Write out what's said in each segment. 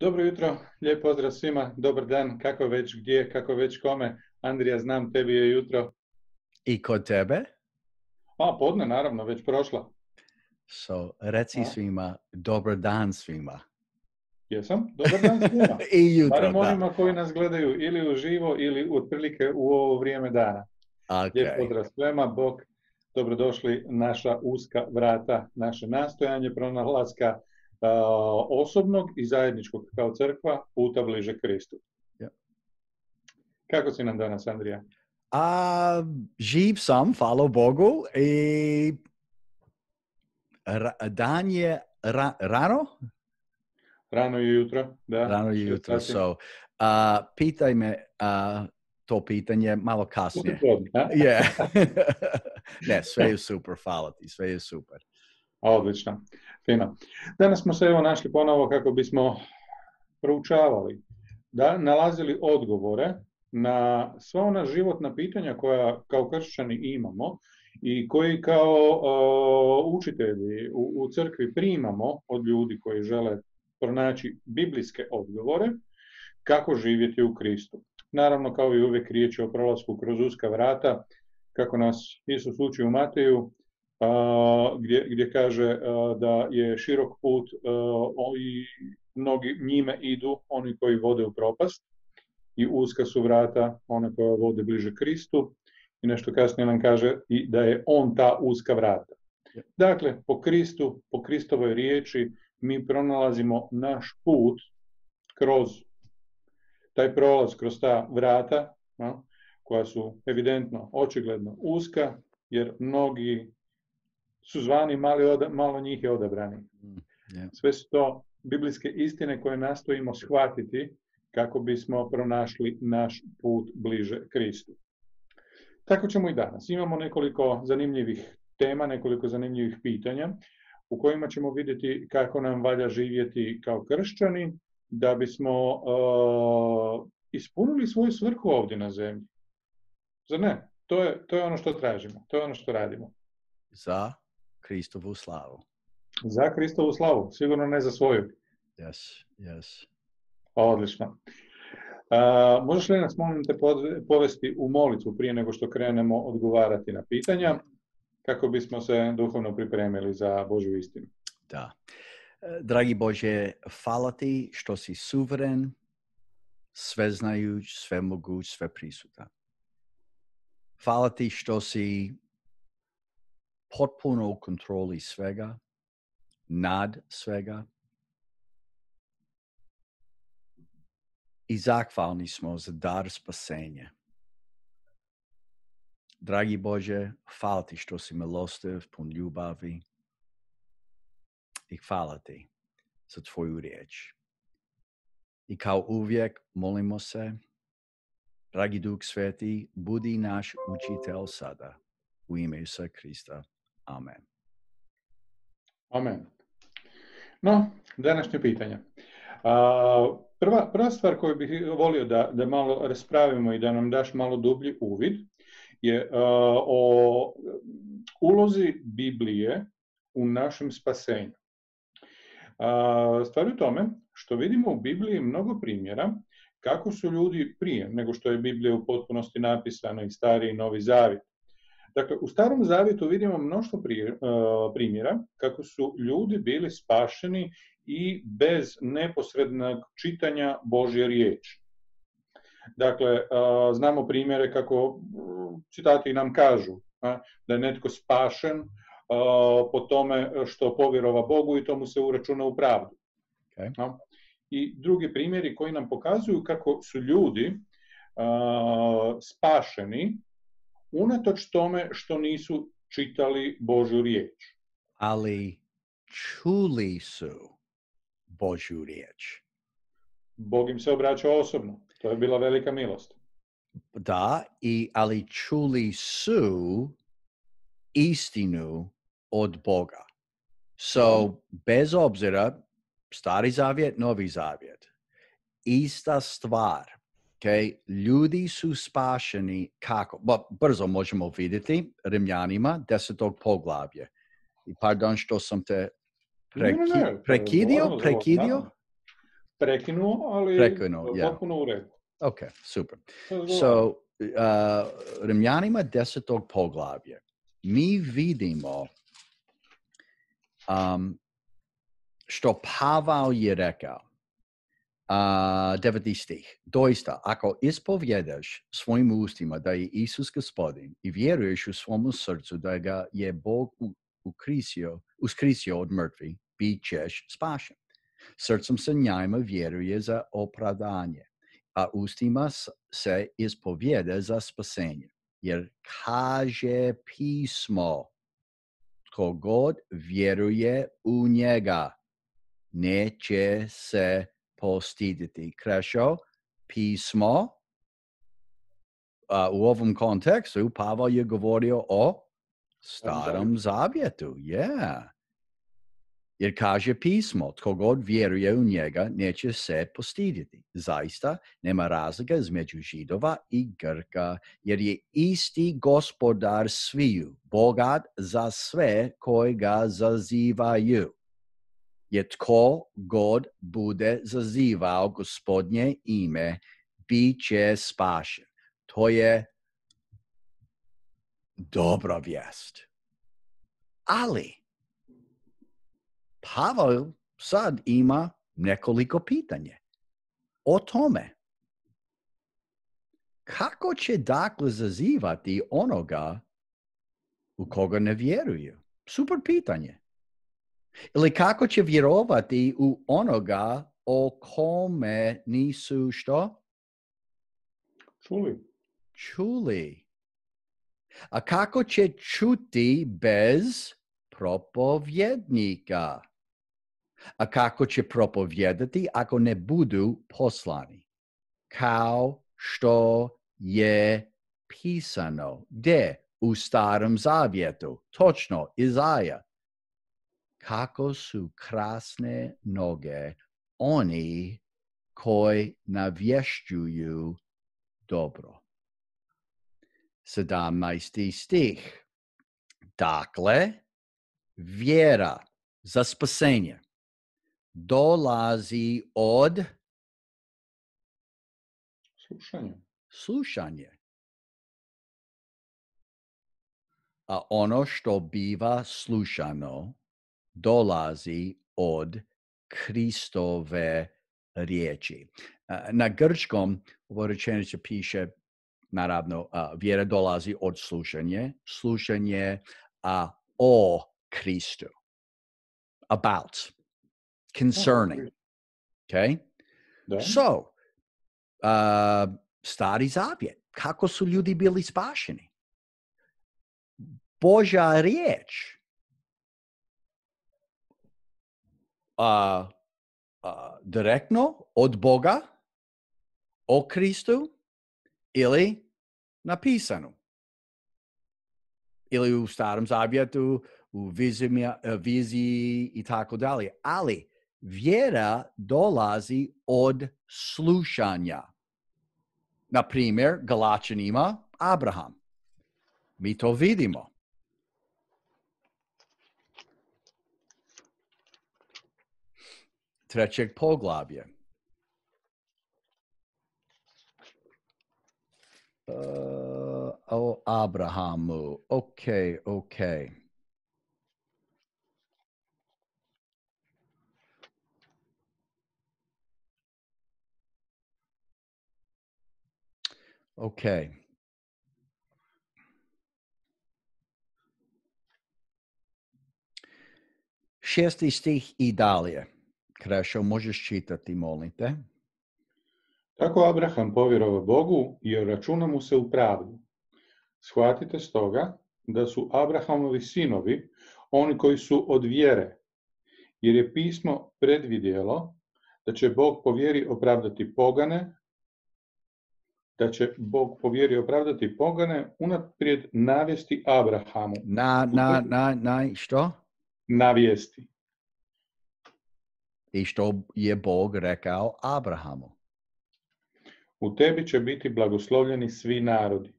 Dobro jutro, lijep pozdrav svima, dobar dan, kako već gdje, kako već kome. Andrija, znam, tebi je jutro. I kod tebe? Podne, naravno, već prošla. Reci svima, dobar dan svima. Jesam, dobar dan svima. I jutro, barem da. onima koji nas gledaju ili uživo ili otprilike u ovo vrijeme dana. Okay. Lijep pozdrav svima, bok, dobrodošli naša uska vrata, naše nastojanje pronalaska osobnog i zajedničkog kao crkva puta bliže Kristu. Yeah. Kako si nam danas, Andrija? Živ sam, hvala Bogu, i dan je rano? Rano je jutro, da. Rano je jutro, pitaj me to pitanje malo kasnije. Yeah. Ne, sve je super, hvala ti, sve je super. Odlično, fino. Danas smo se našli ponovo kako bismo proučavali, nalazili odgovore na sva ona životna pitanja koja kao kršćani imamo i koji kao učitelji u crkvi primamo od ljudi koji žele pronaći biblijske odgovore kako živjeti u Kristu. Naravno, kao i uvijek, riječ je o prolasku kroz uska vrata, kako nas Isus uči u Mateju, gdje kaže da je širok put i mnogi njime idu, oni koji vode u propast, i uska su vrata, one koje vode bliže Kristu, i nešto kasnije nam kaže i da je on ta uska vrata. Dakle, po Kristu, po Kristovoj riječi, mi pronalazimo naš put kroz taj prolaz, kroz ta vrata, koja su evidentno, očigledno uska, jer mnogi su zvani, malo njih je odabrani. Sve su to biblijske istine koje nastojimo shvatiti kako bismo pronašli naš put bliže Kristu. Tako ćemo i danas. Imamo nekoliko zanimljivih tema, nekoliko zanimljivih pitanja u kojima ćemo vidjeti kako nam valja živjeti kao kršćani da bismo ispunili svoju svrhu ovdje na zemlji. Zar ne? To je ono što tražimo, to je ono što radimo. Za Kristovu slavu. Za Kristovu slavu, sigurno ne za svoju. Yes. Odlično. Možeš li nas, molim te, povesti u molitvu prije nego što krenemo odgovarati na pitanja, kako bismo se duhovno pripremili za Božju istinu? Da. Dragi Bože, hvala ti što si suveren, sveznajuć, svemoguć, sveprisutan. Hvala ti što si potpuno u kontroli svega, nad svega. I zahvalni smo za dar spasenja. Dragi Bože, hvala ti što si milostiv, pun ljubavi. I hvala ti za tvoju riječ. I kao uvijek molimo se, dragi Duh Sveti, budi naš učitelj sada. U ime Isusa Krista. Amen. Amen. No, današnje pitanje. Prva stvar koju bih volio da malo raspravimo i da nam daš malo dublji uvid je o ulozi Biblije u našem spasenju. Stvar je u tome što vidimo u Bibliji mnogo primjera kako su ljudi prije nego što je Biblija u potpunosti napisana, i Stari i Novi Zavjet. Dakle, u Starom Zavjetu vidimo mnoštvo primjera kako su ljudi bili spašeni i bez neposrednog čitanja Božje riječi. Dakle, znamo primjere kako citati nam kažu da je netko spašen po tome što povjerova Bogu i to mu se uračuna u pravdu. Okay. I drugi primjeri koji nam pokazuju kako su ljudi spašeni unatoč tome što nisu čitali Božju riječ. Ali čuli su Božju riječ. Bog im se obraćao osobno. To je bila velika milost. Da, ali čuli su istinu od Boga. Bez obzira, Stari Zavjet, Novi Zavjet, ista stvar. Okay? Ljudi su spašeni kako? Brzo možemo vidjeti Rimljanima 10. poglavlje. I pardon što sam te prekidio? prekinuo, ali yeah. potpuno u redu. Okay, super. Razgovaramo. So, Rimljanima 10. poglavlje. Mi vidimo što Pavel je rekao. 9. stih. Doista, ako ispovjedaš svojim ustima da je Isus Gospodin i vjeruješ u svom srcu da ga je Bog uskrisio od mrtvih, bit ćeš spašen. Srcem se njima vjeruje za opravdanje, a ustima se ispovjeda za spasenje. Jer kaže pismo, tko god vjeruje u njega, neće se postiditi. Krešo, pismo, u ovom kontekstu Pavel je govorio o starom zavjetu. Yeah. Jer kaže pismo, tko god vjeruje u njega, neće se postiditi. Zaista, nema razlike između Židova i Grka, jer je isti gospodar sviju, bogat za sve koji ga zazivaju. Jer tko god bude zazivao Gospodnje ime, bit će spašen. To je dobra vijest. Ali, Pavel sad ima nekoliko pitanja o tome. Kako će dakle zazivati onoga u koga ne vjeruju? Super pitanje. Ili kako će vjerovati u onoga o kome nisu što? Čuli. A kako će čuti bez propovjednika? A kako će propovjedati ako ne budu poslani? Kao što je pisano. Gdje? U Starom Zavjetu. Točno, Izaja. Kako su krasne noge oni koji navješćuju dobro. 17. stih. Dakle, vjera za spasenje dolazi od slušanje. A ono što biva slušano dolazi od Kristove riječi. Na grčkom ovo rečenice piše, naravno, vjera dolazi od slušanje o Kristu. About, concerning. Okay? Da. So, Stari Zavjet, kako su ljudi bili spašeni? Božja riječ direktno od Boga o Kristu ili napisano. Ili u Starom Zavjetu, u viziji i tako dalje. Ali vjera dolazi od slušanja. Na primjer, Galačanima Abraham. Mi to vidimo. Trećeg poglavlja. O Abrahamu. Okay. Okay. Šesti stih i dalje. Krešo, možeš čitati, molim te. Tako Abraham povjerovao Bogu i računa mu se u pravdu. Shvatite stoga da su Abrahamovi sinovi oni koji su od vjere, jer je pismo predvidjelo da će Bog po vjeri opravdati pogane, unaprijed navesti Abrahamu. Što? Navijesti. I što je Bog rekao Abrahamu? U tebi će biti blagoslovljeni svi narodi.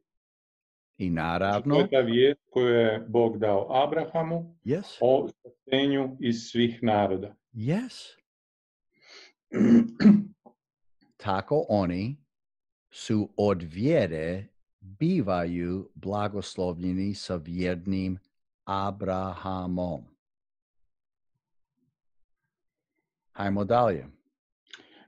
I naravno. To je ta vijest koju je Bog dao Abrahamu yes. o spasenju iz svih naroda. Yes. Tako oni su od vjere bivaju blagoslovljeni sa vjernim Abrahamom. Hajmo dalje.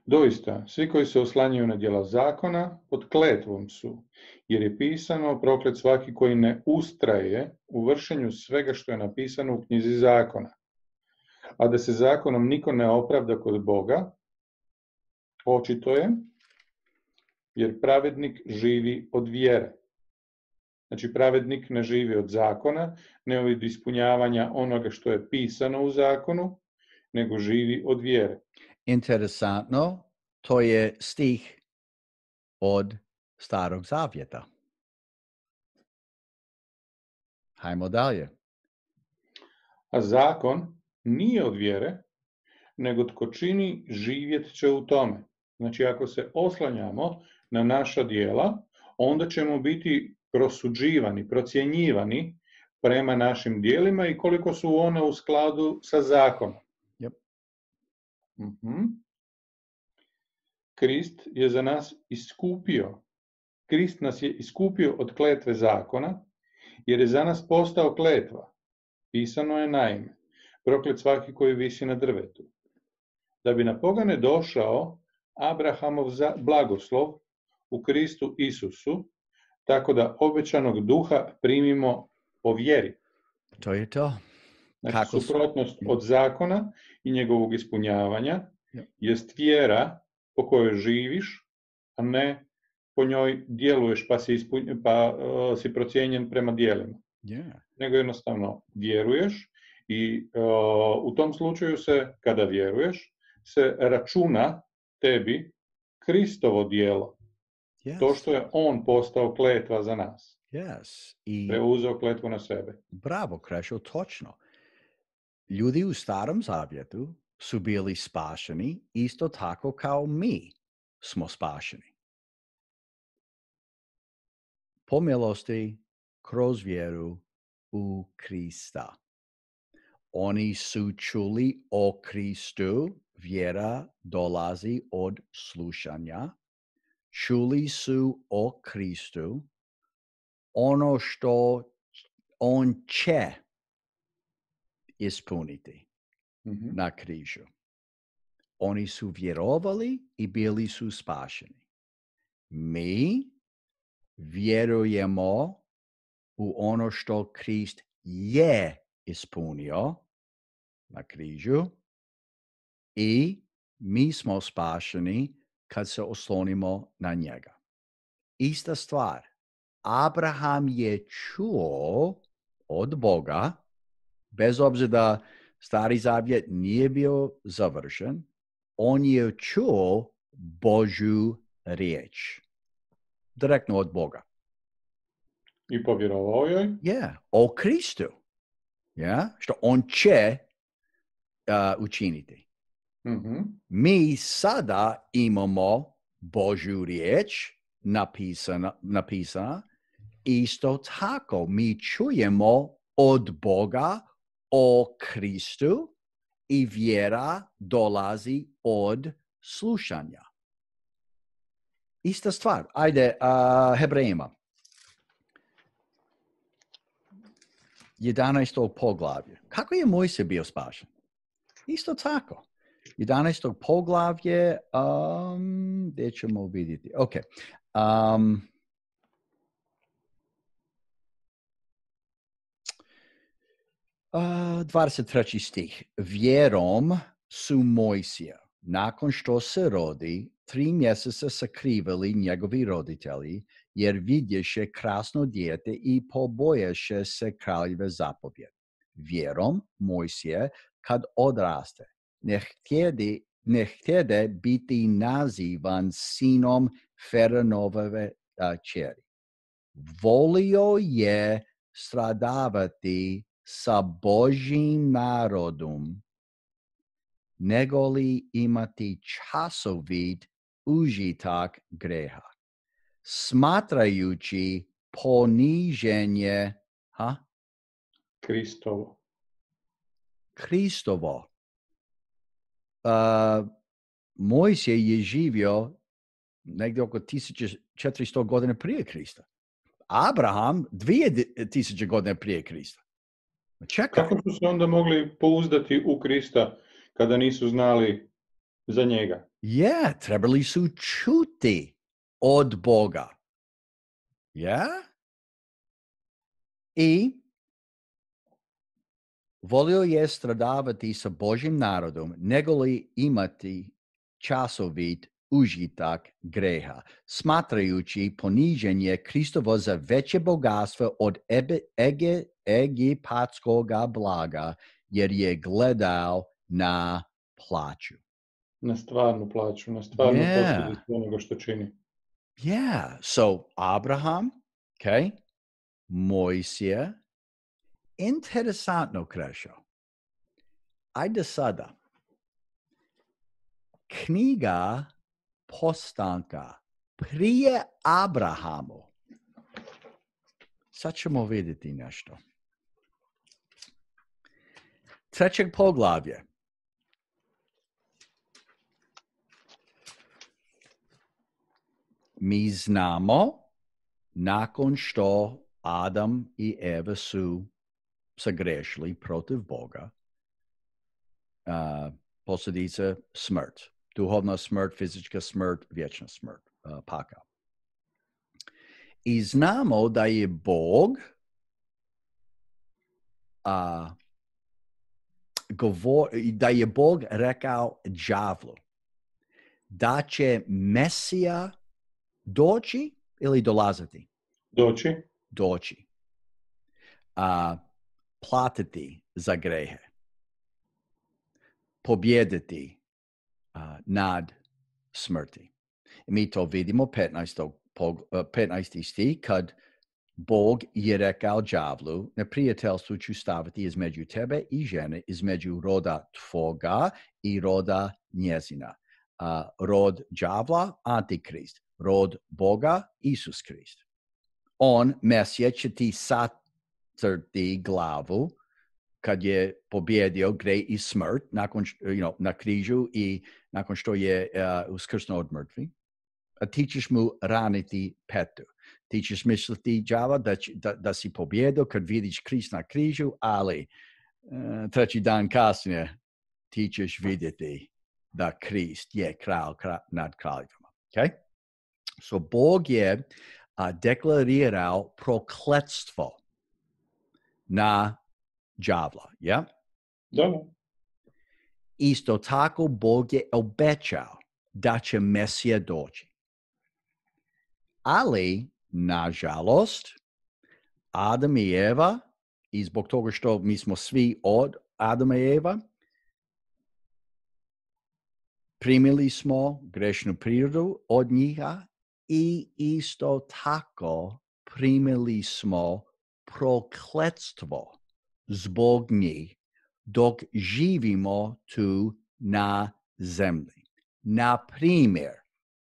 Doista, svi koji se oslanjaju na djela zakona, pod kletvom su, jer je pisano, proklet svaki koji ne ustraje u vršenju svega što je napisano u knjizi zakona. A da se zakonom niko ne opravda kod Boga, očito je, jer pravednik živi od vjere. Znači, pravednik ne živi od zakona, ne od ispunjavanja onoga što je pisano u zakonu, nego živi od vjere. Interesantno, to je stih od Starog Zavjeta. Hajmo dalje. A zakon nije od vjere, nego tko čini živjet će u tome. Znači, ako se oslanjamo na naša djela, onda ćemo biti prosuđivani, procjenjivani prema našim djelima i koliko su one u skladu sa zakonom. Yep. Krist je za nas iskupio. Krist nas je iskupio od kletve zakona, jer je za nas postao kletva. Pisano je naime, proklet svaki koji visi na drvetu. Da bi na pogane došao Abrahamov blagoslov u Kristu Isusu, tako da obećanog duha primimo po vjeri. To je to. Znači, suprotnost od zakona i njegovog ispunjavanja jest vjera po kojoj živiš, a ne po njoj djeluješ pa si procijenjen prema djelima. Yeah. Nego jednostavno vjeruješ i u tom slučaju se, kada vjeruješ, se računa tebi Kristovo djelo. Yes. To što je on postao kletva za nas. Yes. Preuzeo kletvu na sebe. Bravo, Krešo, točno. Ljudi u Starom Zavjetu su bili spašeni isto tako kao mi smo spašeni. Po milosti kroz vjeru u Krista. Oni su čuli o Kristu, vjera dolazi od slušanja. Čuli su o Kristu, ono što on će ispuniti na križu. Oni su vjerovali i bili su spašeni. Mi vjerujemo u ono što Krist je ispunio na križu i mi smo spašeni kad se oslonimo na njega. Ista stvar. Abraham je čuo od Boga, bez obzira da Stari Zavjet nije bio završen, on je čuo Božju riječ. Direktno od Boga. I povjerovao joj? O Kristu. Što on će učiniti. Mi sada imamo Božju riječ napisana. Isto tako mi čujemo od Boga o Kristu i vjera dolazi od slušanja. Ista stvar. Ajde, Hebrejima. 11. poglavlje. Kako je Mojsije bio spašen? Isto tako. 11. poglavlje, gdje ćemo vidjeti? Ok. 23. stih. Vjerom su Mojsija, nakon što se rodi, 3 mjeseca sakrivali njegovi roditelji, jer vidješe krasno dijete i poboješe se kraljeve zapovjed. Vjerom Mojsije, kad odraste, ne htjede biti nazivan sinom Faraonove kćeri. Volio je stradavati sa Božjim narodom, negoli imati časovit užitak greha, smatrajući poniženje Kristovo. Mojsije je živio negdje oko 1400 godina prije Krista. Abraham 2000 godina prije Krista. Čekaj. Kako su se onda mogli pouzdati u Krista kada nisu znali za njega? Trebali su čuti od Boga. I volio je stradavati sa Božim narodom, nego li imati časovit užitak greha, smatrajući poniženje Kristovo za veće bogatstvo od egipatskog blaga, jer je gledao na plaću. Na stvarnu plaću, na stvarnu posljedicu onoga što čini. So Abraham, Mojsije, interesantno, Krešo. Ajde sada. Knjiga Postanka prije Abrahamu. Sad ćemo vidjeti nešto. 3. poglavlje. Mi znamo, nakon što Adam i Eva su sagrešili protiv Boga, posljedica smrt. Duhovna smrt, fizička smrt, vječna smrt, pakao. I znamo da je Bog da je Bog rekao đavlu da će Mesija doći ili dolaziti? Doći. Platiti za grehe. Pobjediti nad smrti. I mi to vidimo 15. stih kad Bog je rekao đavlu, neprijateljstvo ću staviti između tebe i žene, između roda tvoga i roda njezina. Rod đavla, Antikrist. Rod Boga, Isus Krist. On, Mesija, će ti satrti glavu kad je pobjedio grej i smrt na križu i nakon što je uskrsnuo od mrtvi. A ti ćeš mu raniti petu. Ti ćeš misliti, đava, da si pobjedio kad vidiš Krist na križu, ali treći dan kasnije ti ćeš vidjeti da Krist je kralj nad kraljevima. Okay? So Bog je deklarirao prokletstvo na đavla. Da. Isto tako Bog je obećao da će Mesija doći. Ali, nažalost, Adam i Eva, i zbog toga što mi smo svi od Adama i Eva, primili smo grešnu prirodu od njiha i isto tako primili smo prokletstvo zbog njih dok živimo tu na zemlji. Na primjer,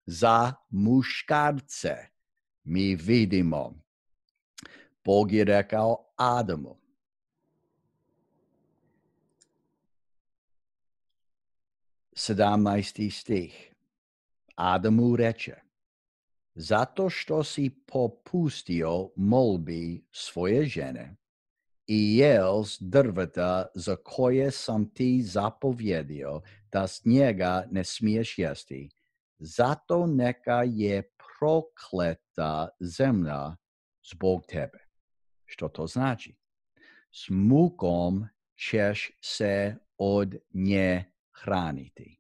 za muškarce mi vidimo, Bog je rekao Adamu, sedamnaesti stih, Adamu reče, zato što si popustio molbi svoje žene i jel s drveta za koje sam ti zapovjedio da s njega ne smiješ jesti, zato neka je prokleta zemlja zbog tebe. Što to znači? S mukom ćeš se od nje hraniti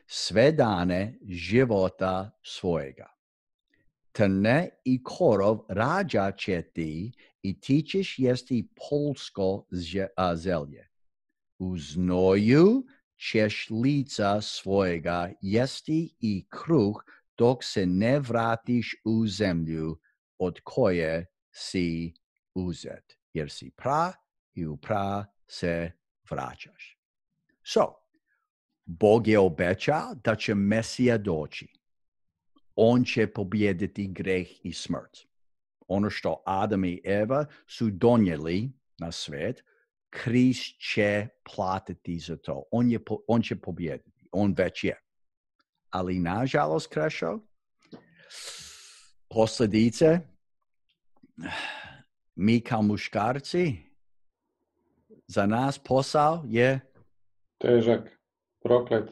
sve dane života svojega. Trne i korov rađa će ti i ti ćeš jesti polsko zelje. U znoju ćeš lica svojega jesti i kruh dok se ne vratiš u zemlju od koje si uzet, jer si pra i u pra se vraćaš. So, Bog je obećao da će Mesija doći. On će pobijediti greh i smrt. Ono što Adam i Eva su donijeli na svijet, Krist će platiti za to. On će pobijediti. On već je. ali nažalost, Krešo, posljedice, mi kao muškarci, za nas posao je Težak, proklet,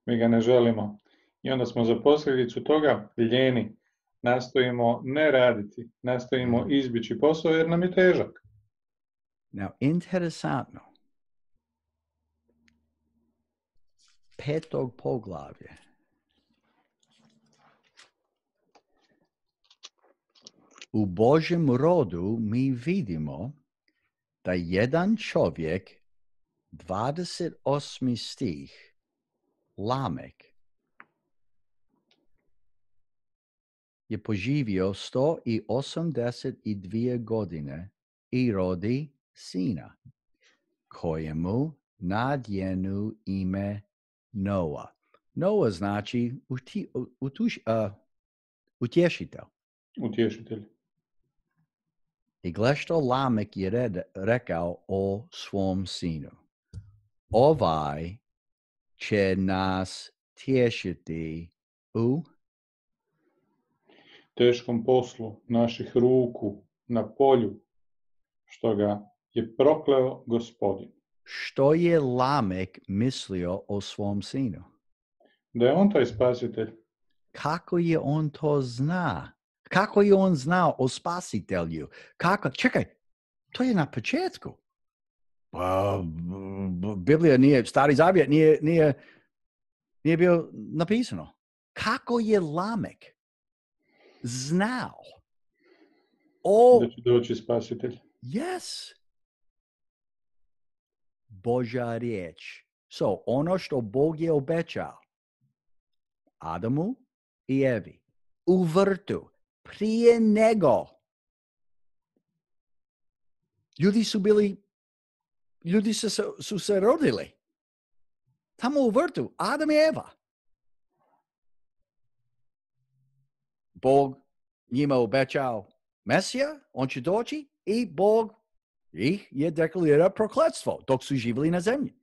mi ga ne želimo. I onda smo za posljedicu toga ljeni. Nastojimo ne raditi, nastojimo izbjeći posao jer nam je težak. Now, interesantno. 5. poglavlje. U Božjem rodu mi vidimo da jedan čovjek, 28. stih, Lamek, je poživio 182 godine i rodi sina, kojemu nadjenu ime Noa. Noa znači utješitelj. Utješitelj. I gle što Lamek je rekao o svom sinu. Ovaj će nas tješiti u teškom poslu naših ruku na polju, što ga je prokleo Gospodin. Što je Lamek mislio o svom sinu? Da je on taj spasitelj. Kako je on to zna? Kako je on znao o spasitelju? Čekaj, to je na početku. Biblija nije, Stari Zavjet nije bio napisano. Kako je Lamek znao da će doći spasitelj? Yes. Božja riječ. Ono što Bog je obećao Adamu i Evi u vrtu prije nego ljudi su se rodili tamo u vrtu, Adam i Eva. Bog njima obećao Mesija, on će doći i Bog ih je deklarira prokletstvo dok su živjeli na zemlji.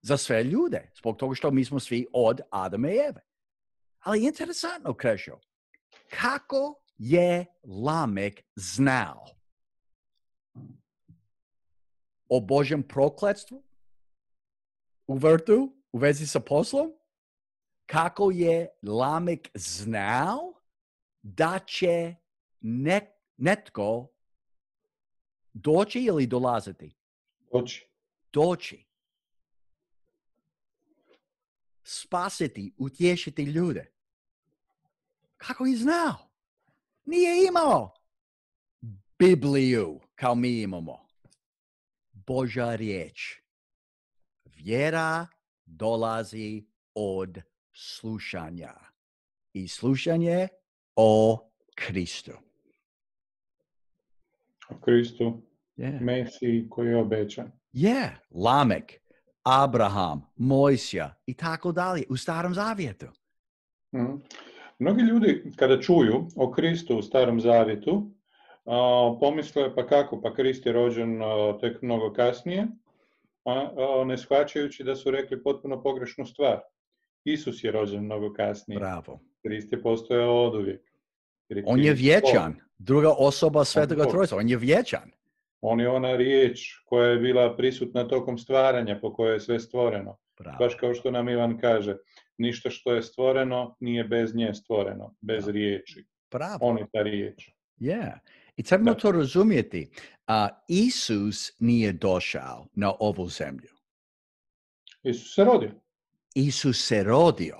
Za sve ljude, zbog toga što mi smo svi od Adama i Eve. Ali interesantno, Krešo, kako je Lamek znao o Božjem prokletstvu u vrtu u vezi sa poslom? Kako je Lamek znao da će netko doći ili dolaziti? Doći. Spasiti, utješiti ljude. Kako je znao? Nije imao Bibliju kao mi imamo. Božja riječ. Vjera dolazi od slušanja. I slušanje o Kristu. O Kristu. Yeah. Mesiji koji je obećan. Lamek, Abraham, Mojsija i tako dalje u Starom Zavjetu. Mnogi ljudi kada čuju o Kristu u Starom Zavjetu pomisle pa kako, pa Krist je rođen tek mnogo kasnije, ne shvaćajući da su rekli potpuno pogrešnu stvar. Isus je rođen mnogo kasnije. Bravo. Krist je postojao oduvijek. On je vječan. Druga osoba Svetoga Trojstva. On je vječan. On je ona riječ koja je bila prisutna tokom stvaranja po kojoj je sve stvoreno. Bravo. Baš kao što nam Ivan kaže, ništa što je stvoreno nije bez nje stvoreno, bez riječi. Bravo. On je ta riječ. I trebamo to razumjeti. Isus nije došao na ovu zemlju. Isus se rodio.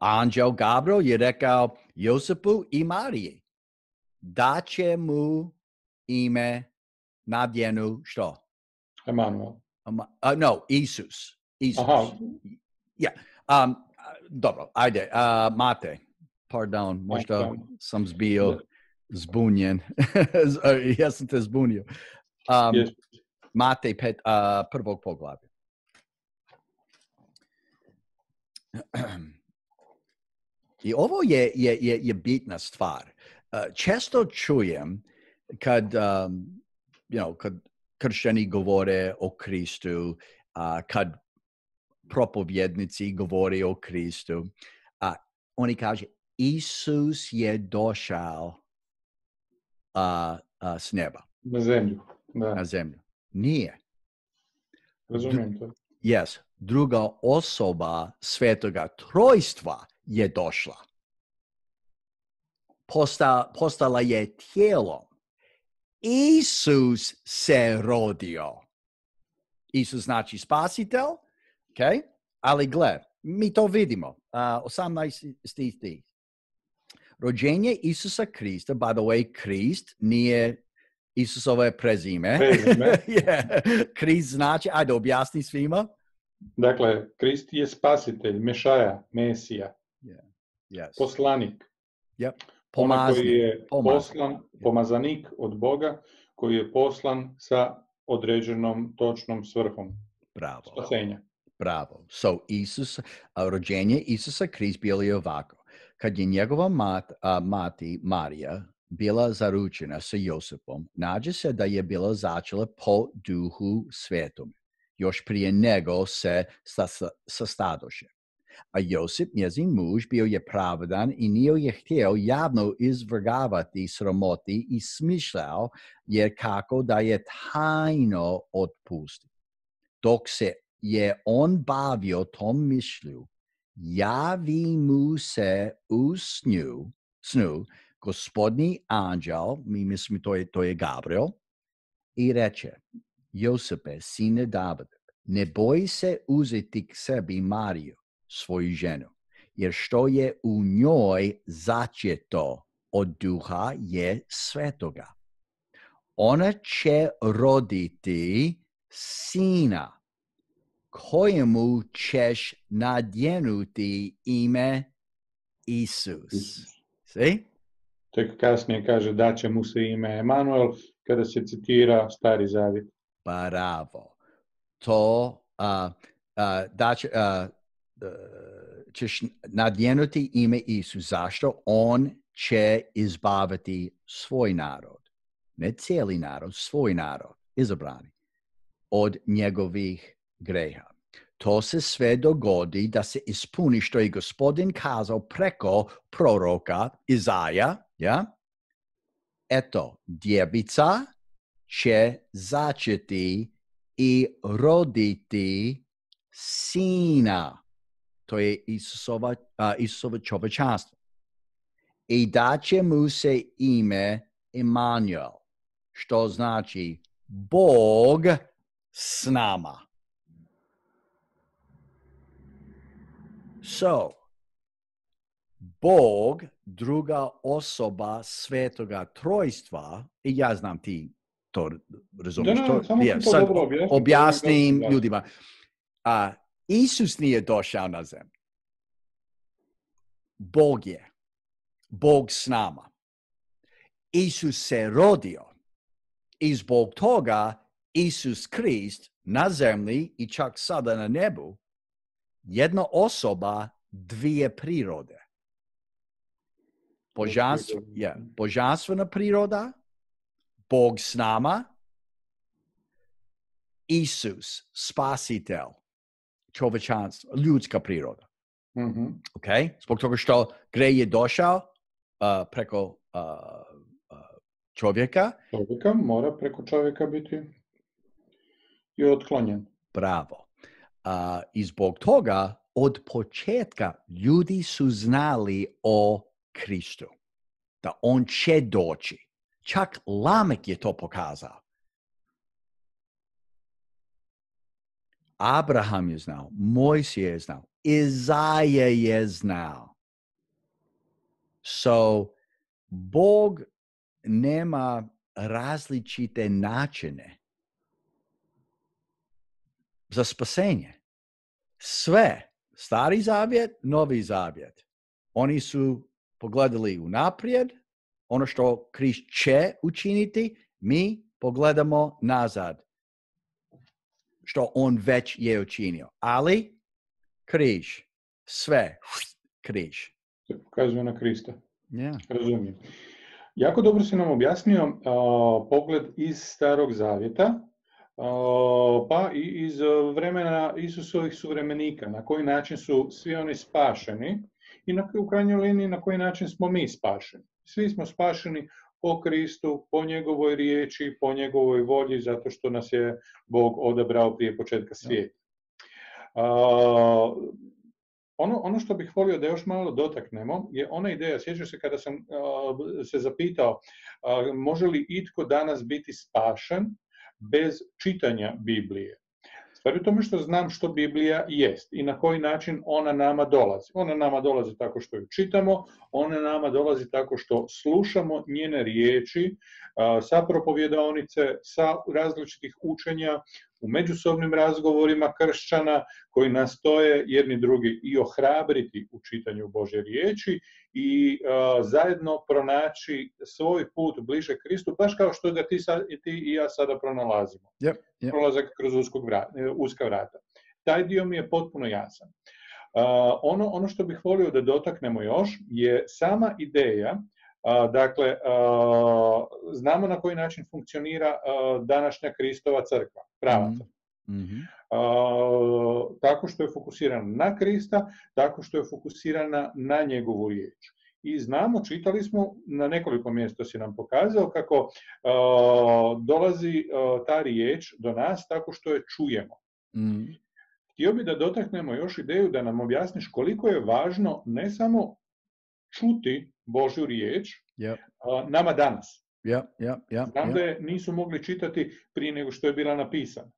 Anđel Gabriel je rekao Josipu i Mariji da će mu ime nadjenu što? Emanuel. Isus. Aha. Dobro, ajde. Mate, pardon, možda sam bio zbunjen. Ja sam te zbunio. Mate 1. poglavlja. I ovo je bitna stvar. Često čujem kad kršćani govore o Kristu, kad propovjednici govore o Kristu, oni kaže, Isus je došao s neba Na zemlju. Da, na zemlju. Nije. razumijem to. Yes, druga osoba Svetoga Trojstva je došla. Postala je tijelom. Isus se rodio. Isus znači spasitelj, okay? Ali gle, mi to vidimo. 18 stih. Rođenje Isusa Krista, by the way, Krist nije Isusove prezime. Yeah. Krist znači, ajde objasni svima. Dakle, Krist je spasitelj, Mešaja, Mesija, Yes. poslanik. Yep. Onaj koji je Pomaznik. pomazanik od Boga, koji je poslan sa određenom točnom svrhom. Bravo. Spasenja. Bravo. So, rođenje Isusa Krist bilo je ovako. Kad je njegova mati Marija bila zaručena sa Josipom, nađe se da je bila začela po Duhu Svetom, još prije nego se sastadoše. A Josip, njezin muž, bio je pravedan i nije je htio javno izvrgavati sramoti i smišljao jer kako da je tajno otpusti. Dok se je on bavio tom mišlju, javi mu se u snu gospodnji anđel, mi mislimo to je Gabriel, i reče, Josipe, sine Davidov, ne boj se uzeti k sebi Mariju, svoju ženu, jer što je u njoj začeto od Duha je Svetoga. Ona će roditi sina, kojemu ćeš nadjenuti ime Isus. See? Tek kasnije kaže da će mu se ime Emanuel, kada se citira Stari Zavjet. Bravo. To ćeš nadjenuti ime Isus. Zašto? On će izbaviti svoj narod. Ne cijeli narod, svoj narod, izabrani, od njegovih greha. To se sve dogodi da se ispuni što je Gospodin kazao preko proroka Izaja. Ja? Eto, djevica će začeti i roditi sina. To je Isusovo čovječanstvo. I daće mu se ime Emanuel, što znači Bog s nama. So, Bog, druga osoba Svetoga Trojstva, i ja znam ti to razumiješ. Sad objasnim ljudima. Isus nije došao na zemlju. Bog je. Bog s nama. Isus se rodio. I zbog toga Isus Krist na zemlji i čak sada na nebu, jedna osoba, dvije prirode. Božanstvena priroda, Bog s nama, Isus, spasitelj, čovječanstvo, ljudska priroda. Mm-hmm. Okay? Zbog toga što grej je došao preko čovjeka. Čovjeka mora preko čovjeka biti i otklonjen. Bravo. I zbog toga od početka ljudi su znali o Kristu. Da on će doći. Čak Lamek je to pokazao. Abraham je znao, Mojsije je znao, Izaja je znao. So, Bog nema različite načine za spasenje. Sve, Stari Zavjet, Novi Zavjet. Oni su pogledali unaprijed, ono što Krist će učiniti, mi pogledamo nazad. Što on već je učinio. Ali, križ, sve, križ. Se pokazuje na Krista. Yeah. Razumijem. Jako dobro si nam objasnio pogled iz Starog Zavjeta, pa i iz vremena Isusovih suvremenika, na koji način su svi oni spašeni i u krajnjoj liniji na koji način smo mi spašeni. Svi smo spašeni po Kristu, po njegovoj riječi, po njegovoj volji, zato što nas je Bog odabrao prije početka svijeta. Ono što bih volio da još malo dotaknemo je ona ideja, sjećaš se kada sam se zapitao može li itko danas biti spašen bez čitanja Biblije. Stvar je u tome što znam što Biblija jest i na koji način ona nama dolazi. Ona nama dolazi tako što ju čitamo, ona nama dolazi tako što slušamo njene riječi sa propovjedaonice, sa različitih učenja, u međusobnim razgovorima kršćana koji nastoje jedni drugi i ohrabriti u čitanju Božje riječi i zajedno pronaći svoj put bliže Kristu, baš kao što ga ti i ja sada pronalazimo. Yep. Prolazak kroz uska vrata. Taj dio mi je potpuno jasan. Ono što bih volio da dotaknemo još je sama ideja. Dakle, znamo na koji način funkcionira današnja Kristova crkva, prava crkva. Mm-hmm. Tako što je fokusirana na Krista, tako što je fokusirana na njegovu riječ. I znamo, čitali smo, na nekoliko mjesta si nam pokazao kako dolazi ta riječ do nas tako što je čujemo. Mm. Htio bi da dotaknemo još ideju da nam objasniš koliko je važno ne samo čuti Božju riječ nama danas. Znam da je nisu mogli čitati prije nego što je bila napisana,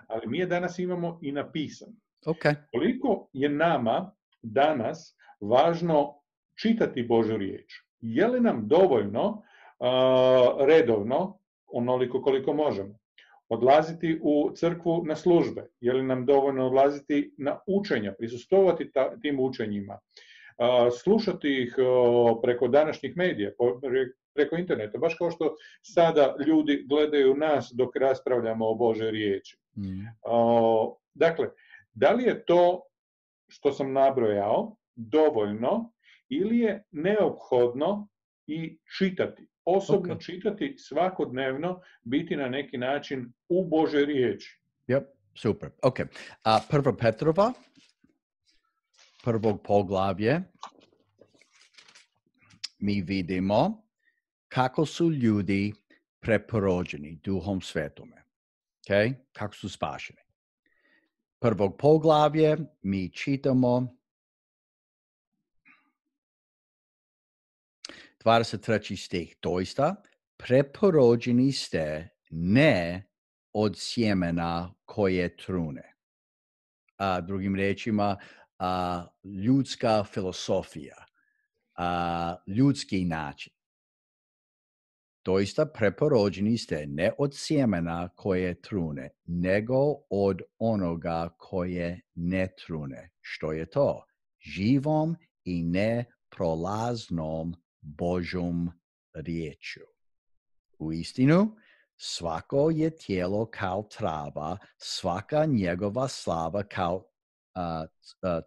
ali mi je danas imamo i napisan. Okay. Koliko je nama danas važno čitati Božju riječ? Je li nam dovoljno redovno, onoliko koliko možemo, odlaziti u crkvu na službe? Je li nam dovoljno odlaziti na učenja, prisustvovati tim učenjima, slušati ih preko današnjih medija, preko interneta, baš kao što sada ljudi gledaju nas dok raspravljamo o Božoj riječi. Dakle, da li je to što sam nabrojao dovoljno ili je neophodno i čitati, osobno čitati svakodnevno, biti na neki način u Božoj riječi? Super. Ok. Prva Petrova, prvog poglavlje, mi vidimo kako su ljudi preporođeni Duhom Svetome. Okay? Kako su spašeni. Prvog poglavlje mi čitamo 23. stih. Doista, preporođeni ste ne od sjemena koje trune. Drugim riječima, ljudska filosofija, ljudski način. Doista preporođeni ste ne od sjemena koje trune, nego od onoga koje ne trune. Što je to? Živom i neprolaznom Božjom riječju. U istinu, svako je tijelo kao trava, svaka njegova slava kao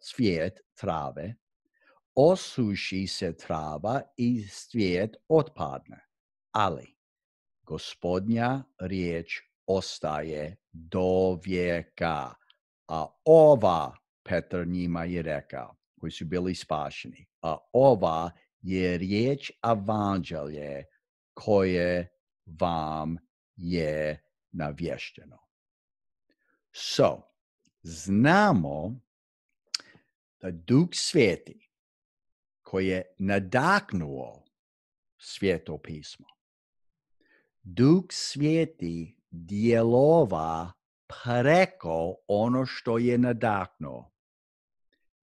cvijet trave, osuši se trava i cvijet otpadne. Ali Gospodnja riječ ostaje do vijeka. A ova, Petar njima je rekao, koji su bili spašeni, a ova je riječ evanđelje koje vam je navješteno. Znamo da Duh Sveti koji je nadahnuo Sveto pismo, Duh Sveti djelova preko ono što je nadahnuo,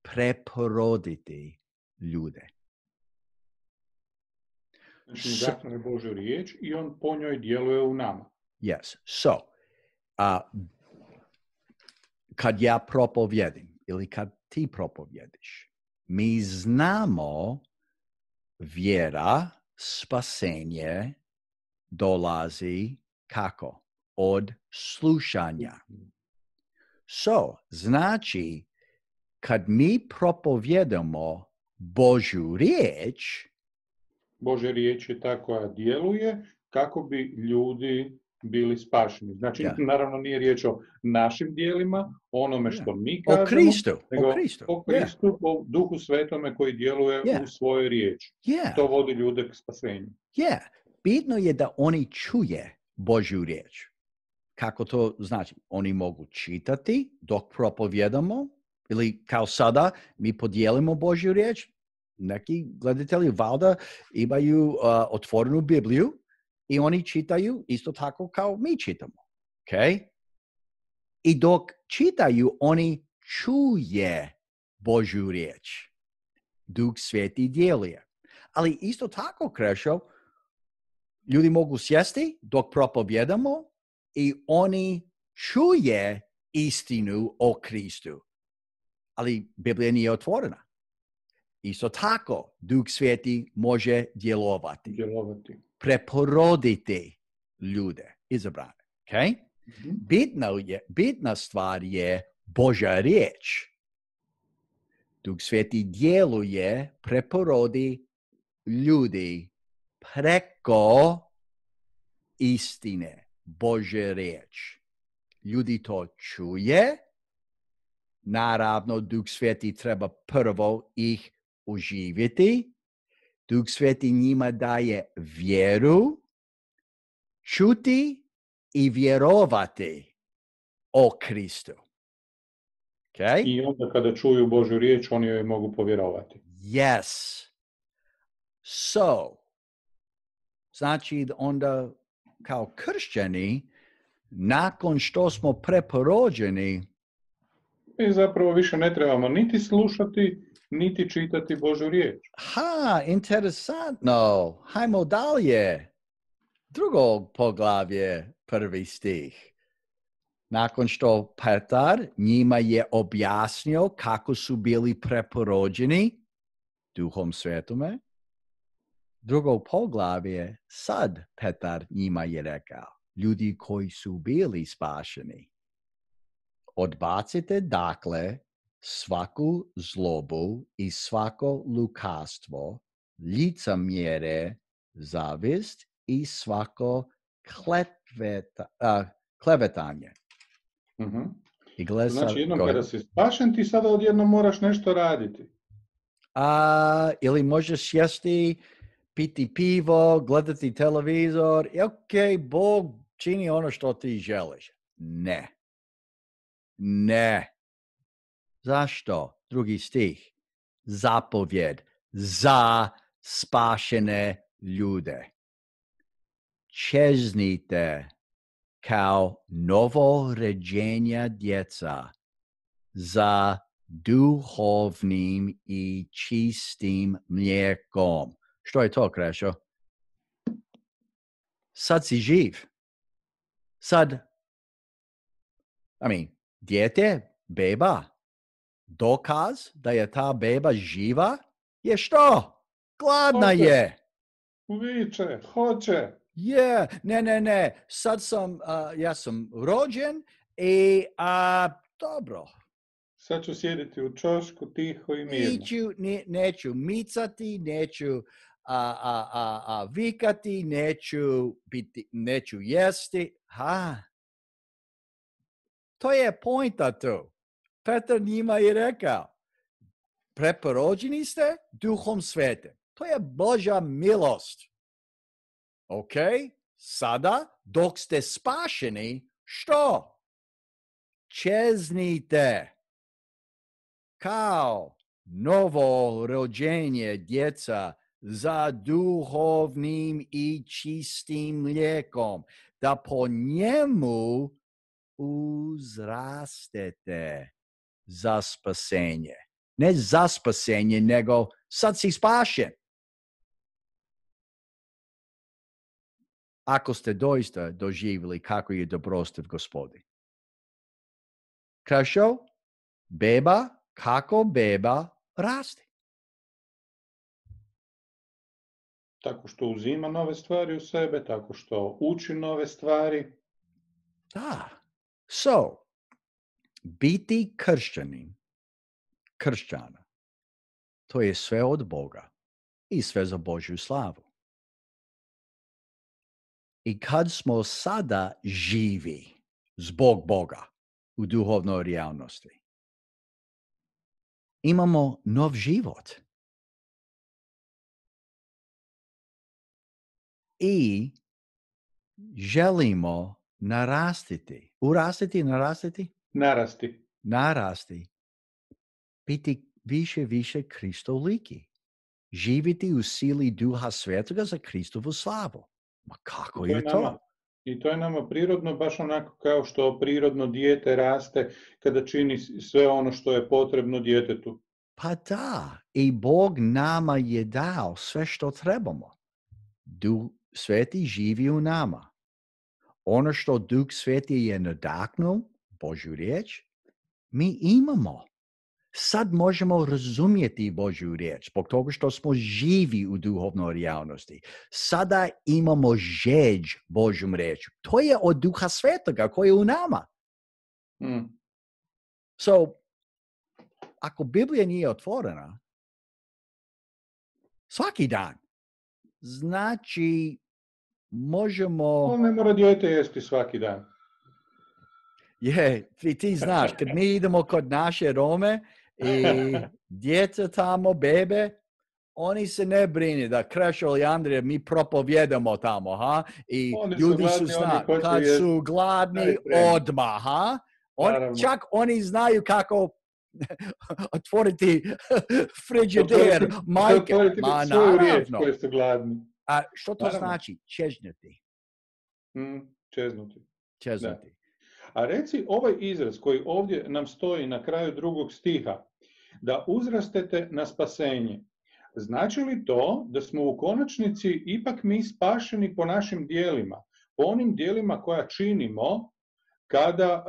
preporoditi ljude. Znači, nadahnuo je Božju riječ i on po njoj djeluje u nama. Yes. Kad ja propovjedim ili kad ti propovjediš, mi znamo vjera, spasenje dolazi kako? Od slušanja. Znači, kad mi propovjedamo Božju riječ, Božja riječ je ta koja djeluje kako bi ljudi bili spašeni. Znači, Ja. naravno nije riječ o našim dijelima, onome što mi O kažemo, Kristu. nego O Kristu. o Kristu, o Duhu Svetome koji djeluje u svojoj riječi. To vodi ljude k spasenju. Bitno je da oni čuje Božju riječ. Kako to znači? Oni mogu čitati dok propovjedamo, ili kao sada mi podijelimo Božju riječ. Neki gledatelji valjda imaju otvorenu Bibliju i oni čitaju isto tako kao mi čitamo. Okay? I dok čitaju, oni čuje Božju riječ. Duh Sveti djeluje. Ali isto tako, Krešo, ljudi mogu sjesti dok propovjedamo i oni čuje istinu o Kristu. Ali Biblija nije otvorena. Isto tako, Duh Sveti može djelovati. Preporoditi ljude, izabrane. Okay? Bitna stvar je Božja riječ. Duh Sveti djeluje, preporodi ljudi preko istine, Božje riječ. Ljudi to čuje. Naravno, Duh Sveti treba prvo ih uživjeti. Duh Sveti njima daje vjeru, čuti i vjerovati o Kristu. Okay? I onda kada čuju Božju riječ, oni joj mogu povjerovati. Yes. So, znači onda kao kršćani, nakon što smo preporođeni, mi zapravo više ne trebamo niti slušati, niti čitati Božju riječ. Interesantno. Hajmo dalje. Drugo poglavlje, 1. stih. Nakon što Petar njima je objasnio kako su bili preporođeni Duhom Svetome, drugo poglavlje, sad Petar njima je rekao, ljudi koji su bili spašeni, odbacite dakle svaku zlobu i svako lukavstvo, licemjerje, zavist i svako klevetanje. Mm-hmm. Znači, jednom kada si spašen, ti sada odjednom moraš nešto raditi. Ili možeš sjesti, piti pivo, gledati televizor i Bog čini ono što ti želiš. Ne. Zašto? 2. stih. Zapovjed za spašene ljude. Čeznite kao novoređenja djeca za duhovnim i čistim mlijekom. Što je to, Krešo? Sad si živ. Dijete, beba, dokaz da je ta beba živa je što? Gladna je. Viče, hoće. Ne. Sad ja sam rođen i dobro. Sad ću sjediti u čošku tiho i mirno. Neću micati, neću vikati, neću jesti. To je pointa tu. Petar njima je rekao, preporođeni ste Duhom Svetim. To je Božja milost. Ok? Sada, dok ste spašeni, što? Čeznite kao novo rođenje djeca za duhovnim i čistim mlijekom, da po njemu uzrastete za spasenje. Ne za spasenje, nego sad si spašen. Ako ste doista doživjeli kako je dobrostiv Gospodin. Krešo, kako beba raste? Tako što uzima nove stvari u sebe, tako što uči nove stvari. Da. So, biti kršćana, to je sve od Boga i sve za Božju slavu. I kad smo sada živi zbog Boga u duhovnoj realnosti, imamo nov život. I želimo narastiti. Narasti. Biti više Kristoliki. Živiti u sili Duha Svetoga za Kristovu slavu. Ma kako je to? I to je nama prirodno, baš onako kao što prirodno dijete raste kada čini sve ono što je potrebno djetetu. Pa da, i Bog nama je dao sve što trebamo. Duh Sveti živi u nama. Ono što Duh Sveti je nadahnuo, Božju riječ, mi imamo. Sad možemo razumjeti Božju riječ, zbog toga što smo živi u duhovnoj realnosti. Sada imamo žeđ Božjom riječu. To je od Duha Svetoga koji je u nama. So, ako Biblija nije otvorena, svaki dan, znači možemo... Ne mora dijete jesti svaki dan. Je, ti znaš, kad mi idemo kod naše Rome i djeca tamo, bebe, oni se ne brini da Krešo i Andrija mi propovjedamo tamo, ha? I oni ljudi gladni, su znali, kad su gladni, odmah, ha? Čak oni znaju kako otvoriti frižider, majke. Ma naravno. Koji su gladni. A što to znači? Čežnjati. Čeznuti. A reci ovaj izraz koji ovdje nam stoji na kraju 2. stiha, da uzrastete na spasenje. Znači li to da smo u konačnici ipak mi spašeni po našim dijelima, po onim dijelima koja činimo kada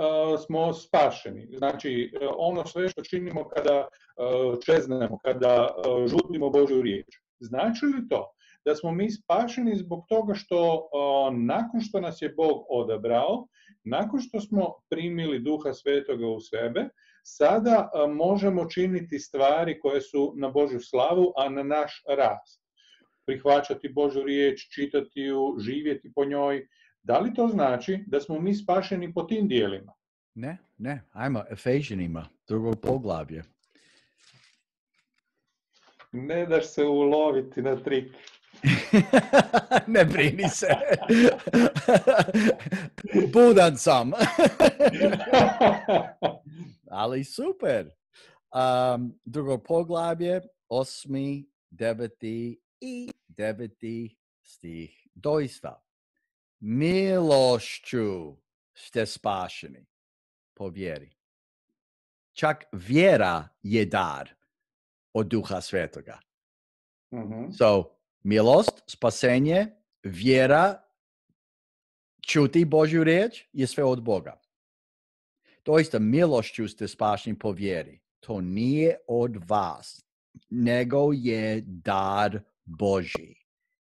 smo spašeni? Znači ono sve što činimo kada čeznemo, kada žudimo Božju riječ. Znači li to da smo mi spašeni zbog toga što nakon što nas je Bog odabrao, nakon što smo primili Duha Svetoga u sebe, sada možemo činiti stvari koje su na Božju slavu, a na naš rast. Prihvaćati Božju riječ, čitati ju, živjeti po njoj. Da li to znači da smo mi spašeni po tim dijelima? Ne. Ajmo Efežanima, 2. poglavlje. Ne daš se uloviti na trik. Ne brini se. Budan sam. Ali super. 2. poglavlje, 8., 9. i 9. stih. Doista, milošću ste spašeni po vjeri. Čak vjera je dar od Duha Svetoga. So, milost, spasenje, vjera, čuti Božju riječ je sve od Boga. Doista, milošću ste spašeni po vjeri. To nije od vas, nego je dar Božji.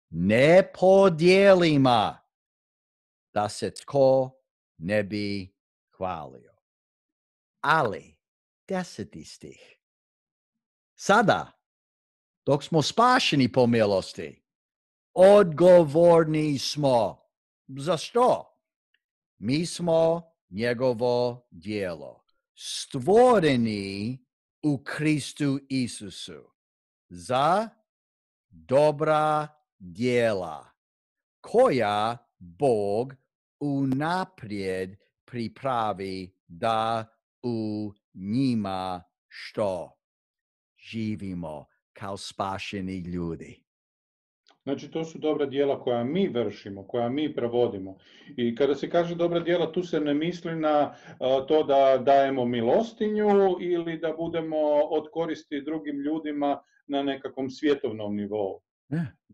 Ne po dijelima, da se tko ne bi hvalio. Ali, 10. stih. Sada, dok smo spašeni po milosti, odgovorni smo. Za što? Mi smo njegovo djelo, stvoreni u Kristu Isusu za dobra djela, koja Bog unaprijed pripravi da u njima što? Živimo kao spašeni ljudi. Znači, to su dobra djela koja mi vršimo, koja mi provodimo. I kada se kaže dobra djela, tu se ne misli na to da dajemo milostinju ili da budemo od koristi drugim ljudima na nekakvom svjetovnom nivou.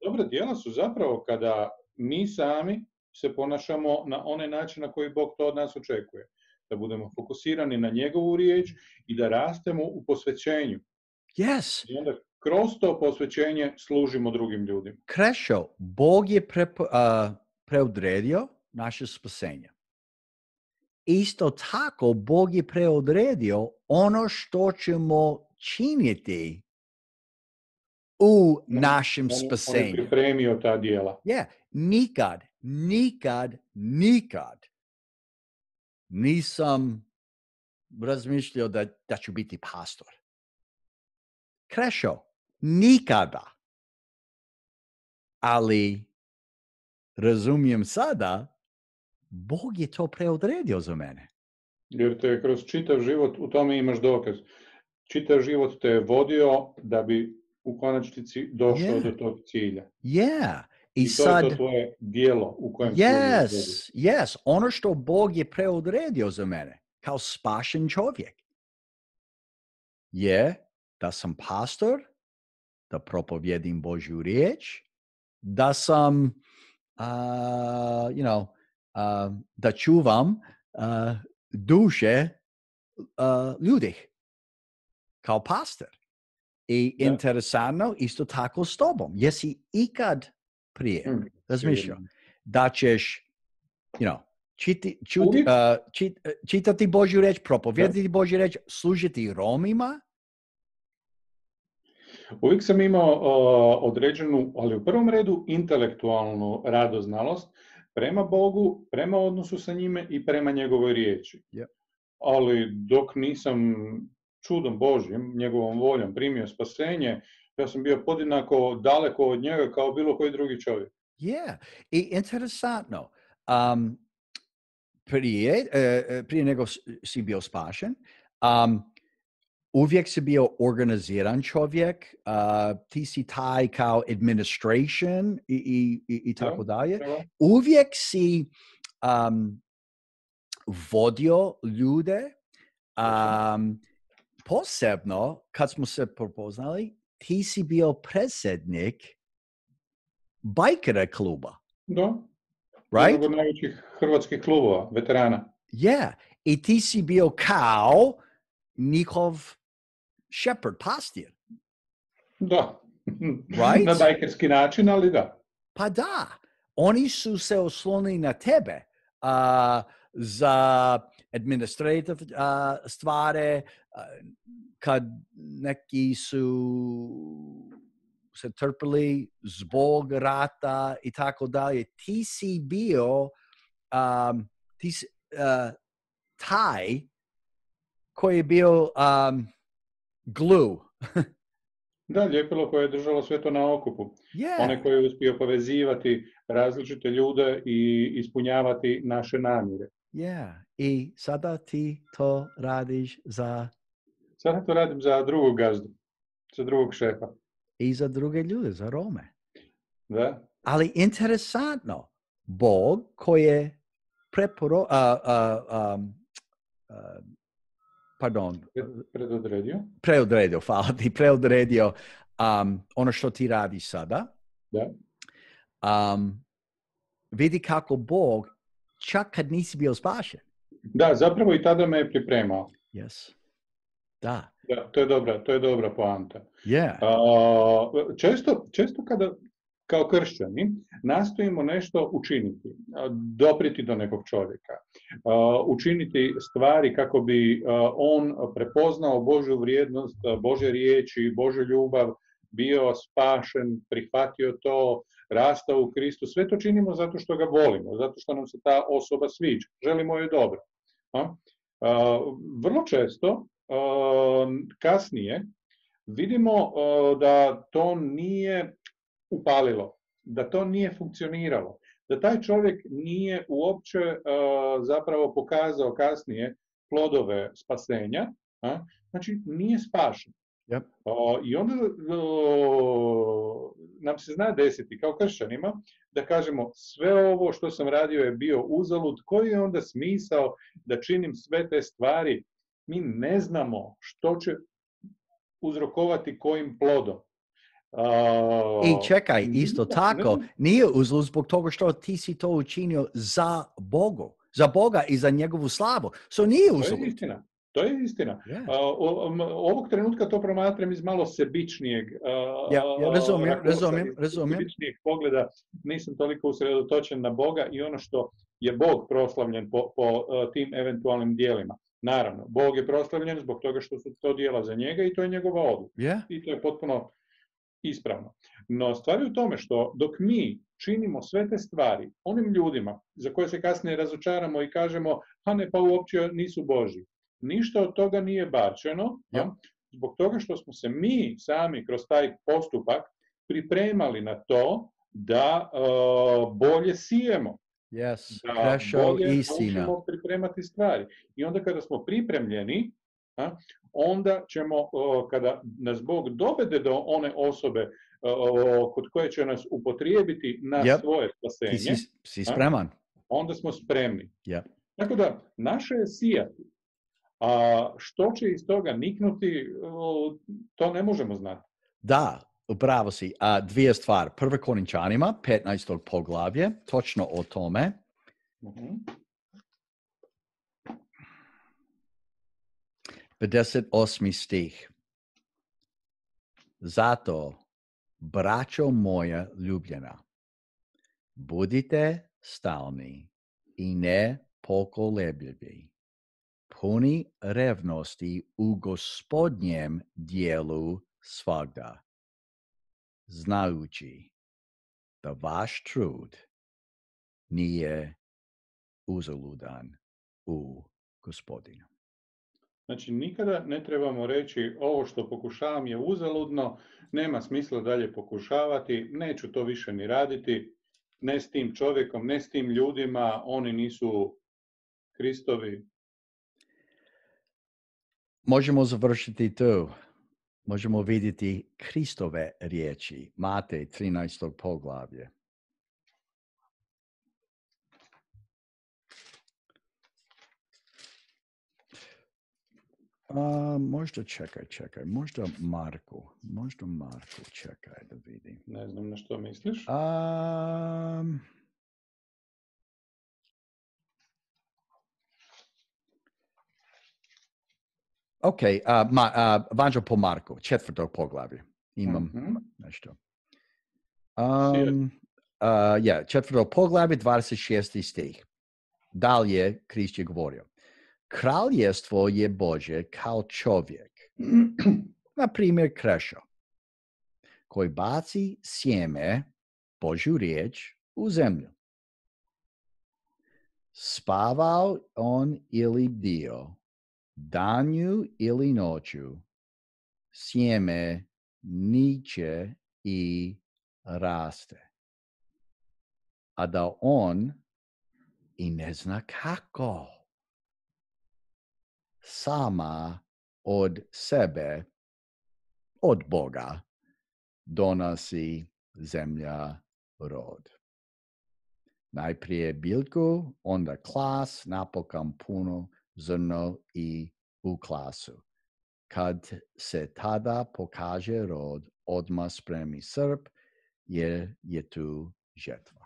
Dobra djela su zapravo kada mi sami se ponašamo na onaj način na koji Bog to od nas očekuje. Da budemo fokusirani na njegovu riječ i da rastemo u posvećenju. Yes. I onda kroz to posvećenje služimo drugim ljudima. Krešo, Bog je preodredio naše spasenje. Isto tako, Bog je preodredio ono što ćemo činiti u našem On je spasenju. pripremio ta djela. Nikad nisam razmišljao da ću biti pastor. Krešo, nikada. Ali razumijem sada, Bog je to preodredio za mene. Jer te kroz čitav život, u tome imaš dokaz, čitav život te je vodio da bi u konačnici došao do tog cilja. I to sad, je to tvoje djelo u kojem si ovdje. Yes, ono što Bog je preodredio za mene, kao spašen čovjek, je da sam pastor, da propovjedim Božju riječ, da sam, da čuvam duše ljudi kao pastor. I interesantno, isto tako s tobom. Jesi ikad prije razmišljao da ćeš, čitati Božju riječ, propovijedati Božju riječ, služiti Romima? Uvijek sam imao određenu, ali u prvom redu intelektualnu radoznalost prema Bogu, prema odnosu sa njime i prema njegovoj riječi. Ali dok nisam čudom Božjim, njegovom voljom primio spasenje, ja sam bio podjednako daleko od njega kao bilo koji drugi čovjek. I interesantno, prije nego si bio spašen, uvijek si bio organiziran čovjek, ti si taj kao administration i tako dalje. Uvijek si vodio ljude, posebno kad smo se prepoznali, ti si bio predsjednik bajkera kluba. Da. Right? Jednog od najvećih hrvatskih klubova, veterana. I ti si bio kao njihov shepherd, pastir. Da. Right? Na bajkerski način, ali da. Pa da. Oni su se oslonili na tebe za administrative stvari, kad neki su se trpili zbog rata i tako dalje. Ti si bio taj koji je bio glue. Da, ljepilo koje je držalo sve to na okupu. Onaj koji je uspio povezivati različite ljude i ispunjavati naše namjere. I sada ti to radiš za... Sada to radim za drugog gazdu, za drugog šefa. I za druge ljude, za Rome. Da. Ali interesantno, Bog koji je preodredio, hvala ti, preodredio ono što ti radi sada. Da. Vidi kako Bog, čak kad nisi bio spašen. Da, zapravo i tada me je pripremao. Yes. Da. Da, to je dobra poanta. Često kada kao kršćani nastojimo nešto učiniti, dopriti do nekog čovjeka, učiniti stvari kako bi on prepoznao Božju vrijednost, Božje riječi, Božju ljubav, bio spašen, prihvatio to, rastao u Kristu. Sve to činimo zato što ga volimo, zato što nam se ta osoba sviđa. Želimo joj dobro. Vrlo često kasnije vidimo da to nije upalilo, da to nije funkcioniralo, da taj čovjek nije uopće zapravo pokazao kasnije plodove spasenja, znači nije spašen. I onda nam se zna desiti kao kršćanima da kažemo sve ovo što sam radio je bio uzalud, koji je onda smisao da činim sve te stvari? Mi ne znamo što će uzrokovati kojim plodom. I čekaj, isto tako, nije uzalud zbog toga što ti si to učinio za Boga i za njegovu slavu. Nije uzalud. To je istina. Ovog trenutka to promatram iz malo sebičnijeg sebičnijeg pogleda. Nisam toliko usredotočen na Boga i ono što je Bog proslavljen po tim eventualnim dijelima. Naravno, Bog je proslavljen zbog toga što su to dijela za njega i to je njegova odluka. I to je potpuno ispravno. No stvar je u tome što dok mi činimo sve te stvari onim ljudima za koje se kasnije razočaramo i kažemo, a ne, pa uopće nisu Božji. Ništa od toga nije bačeno, zbog toga što smo se mi sami kroz taj postupak pripremali na to da bolje sijemo. Yes, Da bolje možemo pripremati stvari. I onda kada smo pripremljeni, onda ćemo, kada nas Bog dovede do one osobe kod koje će nas upotrijebiti na svoje spasenje, si spreman. Onda smo spremni. Yep. Tako da, naše je sijati. A što će iz toga niknuti, to ne možemo znati. Da, upravo si. Dvije stvari. Prvo Korinčanima, 15. poglavlje, točno o tome. 58. stih. Zato, braćo moja ljubljena, budite stalni i ne pokolebljivi, puni revnosti u Gospodnjem dijelu svagda, znajući da vaš trud nije uzaludan u Gospodinu. Znači, nikada ne trebamo reći ovo što pokušavam je uzaludno, nema smisla dalje pokušavati, neću to više ni raditi, ne s tim čovjekom, ne s tim ljudima, oni nisu Kristovi. Možemo završiti tu. Možemo vidjeti Kristove riječi. Matej 13. poglavlje. Možda čekaj. Možda Marku, čekaj da vidim. Ne znam na što misliš. Ok, Vanđel po Marku, 4. poglavlje. Imam nešto. 4. poglavlje, 26. stih. Dalje Krist je govorio. Kraljevstvo je Božje kao čovjek, na primjer Krešo, koji baci sjeme, Božju riječ, u zemlju. Spavao on ili bdio, danju ili noću, sjeme niče i raste. A da on i ne zna kako. Sama od sebe, od Boga, donosi zemlja rod. Najprije biljku, onda klas, napokon puno zrno i u klasu. Kad se tada pokaže rod, odmah spremi srp, jer je tu žetva.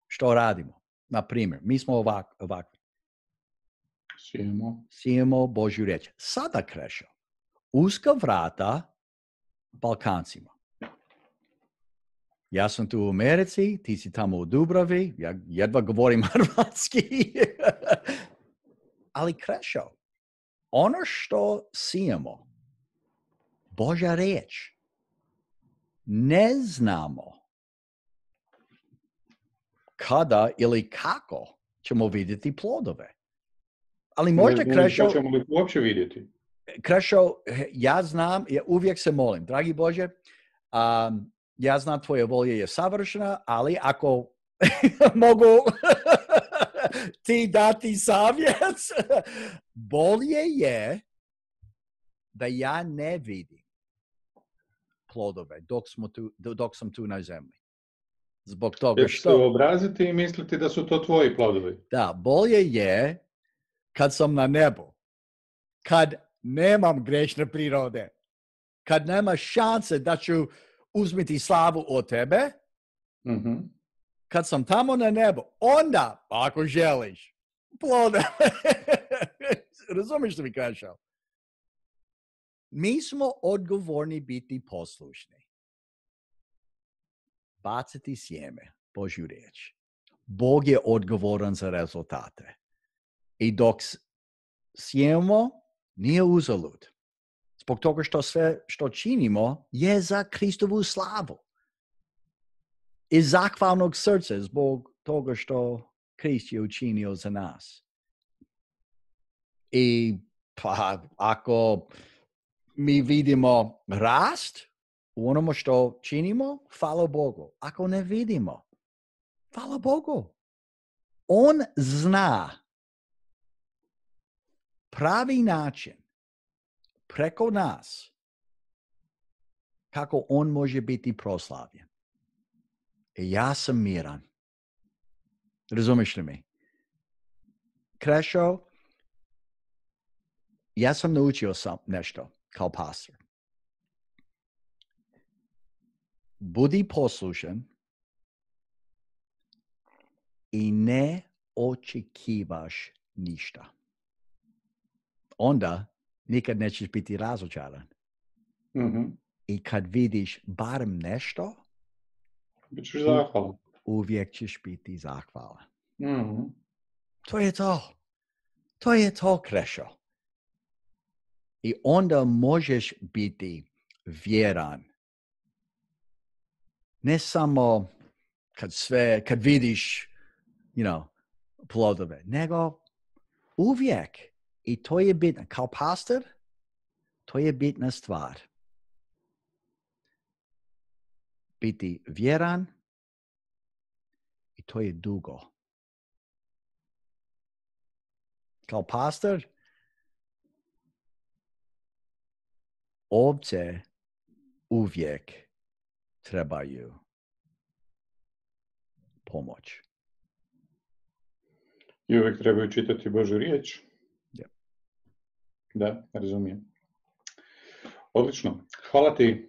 Što radimo? Na primjer, mi smo ovakvi. Sijemo Božju riječ. Sada Krešo, uska vrata Balkancima. Ja sam tu u Americi, ti si tamo u Dubravi, ja jedva govorim hrvatski. Ali Krešo, ono što sijemo, Božja riječ, ne znamo kada ili kako ćemo vidjeti plodove. Ali možda, Krešo... Ćemo li uopće vidjeti? Krešo, ja znam, ja uvijek se molim, dragi Bože, ja znam tvoja volja je savršena, ali ako mogu ti dati savjet, bolje je da ja ne vidim plodove dok sam tu na zemlji. Zbog toga što... se obraziti i misliti da su to tvoji plodovi. Da, bolje je kad sam na nebu, kad nemam grešne prirode, kad nema šanse da ću uzmiti slavu od tebe, kad sam tamo na nebu, onda, ako želiš, plodove. Razumiješ što mi kažeš? Mi smo odgovorni biti poslušni. Baciti sjeme, Božju riječ. Bog je odgovoran za rezultate. I dok sjemo, nije uzalud. Zbog toga što sve što činimo je za Kristovu slavu. Iz zahvalnog srca zbog toga što Krist je učinio za nas. I pa ako mi vidimo rast u onome što činimo, hvala Bogu. Ako ne vidimo, hvala Bogu. On zna pravi način preko nas kako on može biti proslavljen. I ja sam miran. Razumiješ li mi? Krešo, ja sam naučio nešto kao pastor. Budi poslušan i ne očekivaš ništa. Onda nikad nećeš biti razočaran. Mm-hmm. I kad vidiš barem nešto, bićeš zahvalan. Uvijek ćeš biti zahvalan. Mm-hmm. To je to. To je to, Krešo. I onda možeš biti vjeran. Ne samo kad vidiš, plodove, nego uvijek. I to je bitno. Kao pastor, to je bitna stvar. Biti vjeran i to je dugo. Kao pastor, ovce uvijek trebaju pomoć. I uvijek trebaju čitati Božju riječ. Yeah. Da, razumijem. Odlično. Hvala ti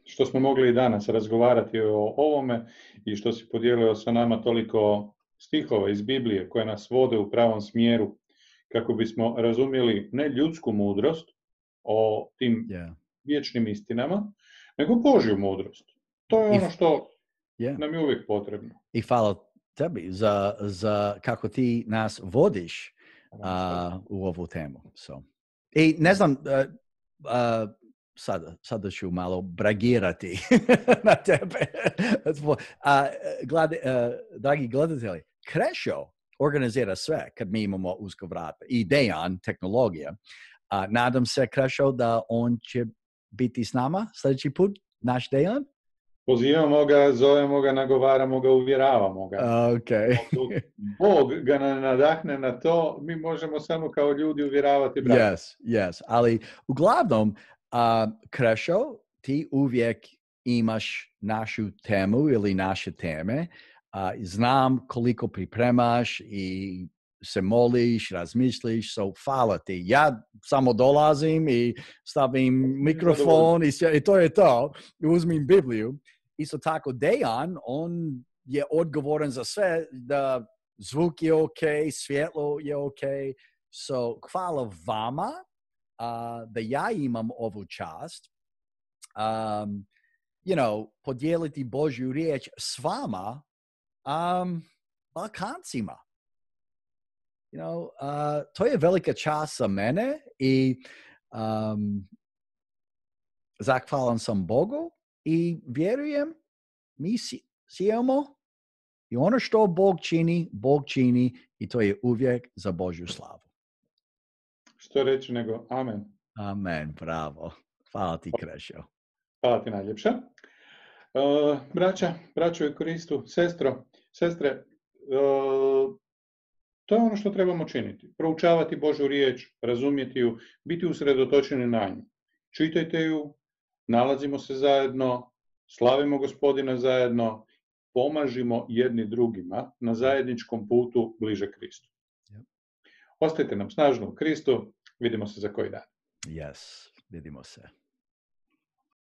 što smo mogli i danas razgovarati o ovome i što si podijelio sa nama toliko stihova iz Biblije koje nas vode u pravom smjeru kako bismo razumjeli ne ljudsku mudrost o tim vječnim istinama, nego Božju mudrost. To je ono što nam je uvijek potrebno. I hvala tebi za kako ti nas vodiš u ovu temu. So. I ne znam, sada ću malo bragirati na tebe. Dragi gledatelji, Krešo organizira sve kad mi imamo usko vrata. I Dejan, tehnologija. Nadam se, Krešo, da on će biti s nama sljedeći put, naš Dejan. Pozivamo ga, zovemo ga, nagovaramo ga, uvjeravamo ga. Okay. Bog ga nadahne na to, mi možemo samo kao ljudi uvjeravati brata. Yes. Ali uglavnom, Krešo, ti uvijek imaš našu temu ili naše teme. Znam koliko pripremaš i se moliš, razmišljiš, so hvala ti. Ja samo dolazim i stavim mikrofon i to je to. Uzmim Bibliju. Isto tako Dejan, on je odgovoran za sve, da zvuk je ok, svjetlo je ok. So hvala vama da ja imam ovu čast. Podijeliti Božju riječ s vama, Balkancima. To je velika čast za mene i zahvalan sam Bogu i vjerujem mi sijemo i ono što Bog čini i to je uvijek za Božju slavu. Što reći nego amen. Amen, bravo. Hvala ti, Krešo. Hvala ti najljepša. Braćo u Kristu, sestre, to je ono što trebamo činiti. Proučavati Božju riječ, razumjeti ju, biti usredotočeni na nju. Čitajte ju, nalazimo se zajedno, slavimo Gospodina zajedno, pomažimo jedni drugima na zajedničkom putu bliže Kristu. Ostajte nam snažno u Kristu, vidimo se za koji dan. Yes, vidimo se.